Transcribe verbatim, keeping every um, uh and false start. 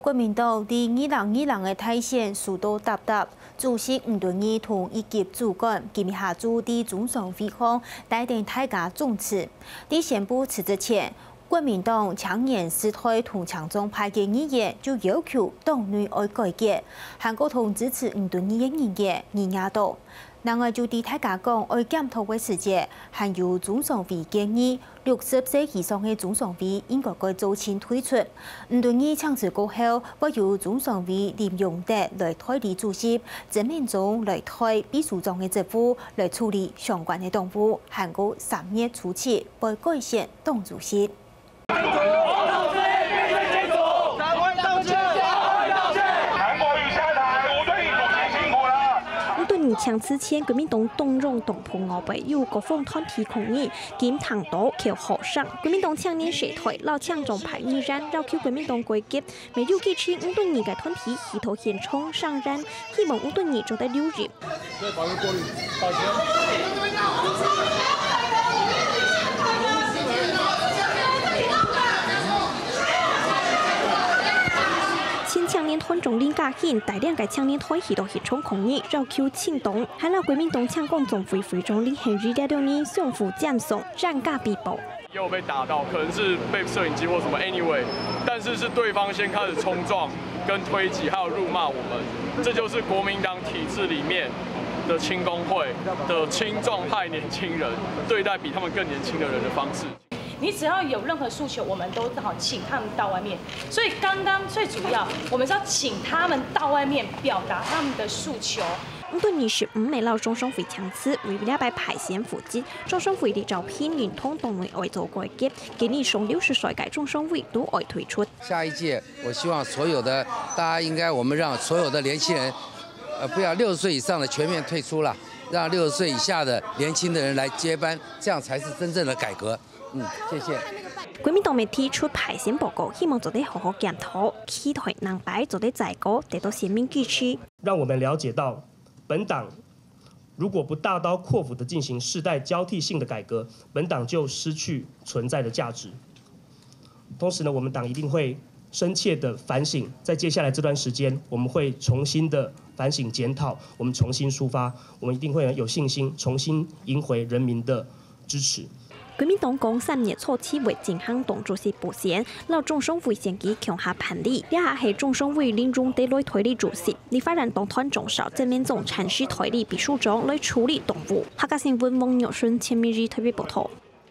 國民黨在二零二零个大選輸到沓沓，主席吳敦義同一級主管今晡下晝在中常會項帶等大家總辭。在宣布辭職前，國民黨青年時代同青壯派个議員就要求黨內愛改革，還過同支持吳敦義个人員議員多。另外，就在大家講愛檢討个時節，還有中常會建議， 六十歲以上个中常會應該改做清退出。吳敦義請辭過後，會由中常會林榮德來代理主席，曾明忠來代秘書長个職務，來處理相關个黨務，還過三月初七會改選黨主席。 韓國瑜下台，吳敦義主席辛苦了。吳敦義請辭前，國民黨黨中央黨部外背有各方團體抗議， 金堂島橋學生、國民黨青年時代摎青壯派議員要求國民黨改革，乜有幾千吳敦義个團體去到現場聲援，希望吳敦義做得留任。前青年團長林家興帶領个青年團去到現場抗議，要求清黨，還摎國民黨青光總會會長李亨宇這兩日相互尖酸， 冤家比報。也有被打到，可能是被攝影机或什么，anyway，但是是对方先开始冲撞、跟推挤，还有辱骂我们，这就是国民党体制里面的青工会的青壮派年轻人对待比他们更年轻的人的方式。你只要有任何诉求，我们都好请他们到外面。所以刚刚最主要，我们是要请他们到外面表达他们的诉求。 五月二十五日摎中常會請辭，為了擺排選負責，中常會里招聘人同黨內愛做改革，建議上六十歲个中常會都愛退出。下一屆，我希望所有的大家应该，我们让所有的年轻人，呃，不要六十岁以上的全面退出了，让六十岁以下的年轻的人来接班，这样才是真正的改革。嗯，谢谢。國民黨媒體出排選報告，希望做得好好檢討，期待下擺做得再過，得到選民支持。让我们了解到，本党如果不大刀阔斧的进行世代交替性的改革，本党就失去存在的价值。同时呢，我们党一定会深切的反省，在接下来这段时间，我们会重新的反省检讨，我们重新出发，我们一定会有信心重新赢回人民的支持。 國民黨講三月初七會進行黨主席補選，摎中常會選舉共下辦理。這下係中常會林榮德來代理主席，立法院黨團總召曾明忠暫時代理秘書長來處理黨務。客家新聞王玉順、陳明儀台北報導。